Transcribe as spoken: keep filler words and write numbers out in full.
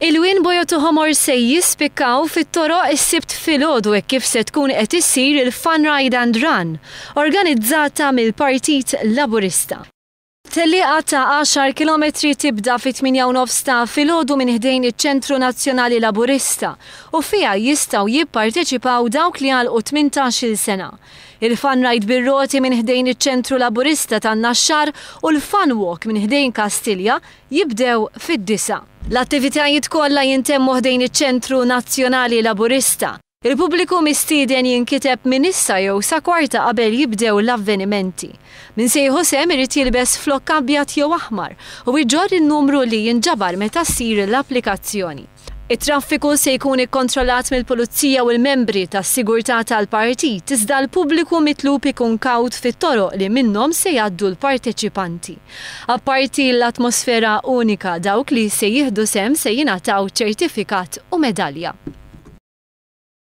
Ilwien bojod u ħomor se jispikkaw fit-toroq is-Sibt filgħodu hekk kif se tkun qed issir il-Fun Ride and Run, organizzata mill-Partit Laburista. Tellieqa ta' għaxar kilometri tibda fit-tmienja u nofs ta' filgħodu minn ħdejn iċ-Ċentru Nazzjonali Laburista u fiha jistgħu jipparteċipaw dawk li għalqu tmintax-il sena. Il-Fun Ride bir-roti minn ħdejn iċ-Ċentru Laburista tan-Naxxar u l-Fun Walk minn ħdejn Kastilja jibdew fid-disgħa. L-attivitajiet kollha jintemmu ħdejn iċ-Ċentru Nazzjonali Laburista. Il-pubbliku mistieden jinkiteb minn issa jew sa kwarta qabel jibdew l-avvenimenti. Min se jieħu sehem irid jilbes flokk abjad jew aħmar u jġorr in-numru li jinġabar meta ssir l-applikazzjoni. It-traffiku se jkun ikkontrollat mill-Pulizija u l-membri tas-sigurtà tal-partit, iżda l-pubbliku mitlub ikun kawt fit-toroq li minnhom se jgħaddu l-parteċipanti. Apparti l-atmosfera unika, dawk li se jieħdu sehem se jingħataw ċertifikat u medalja.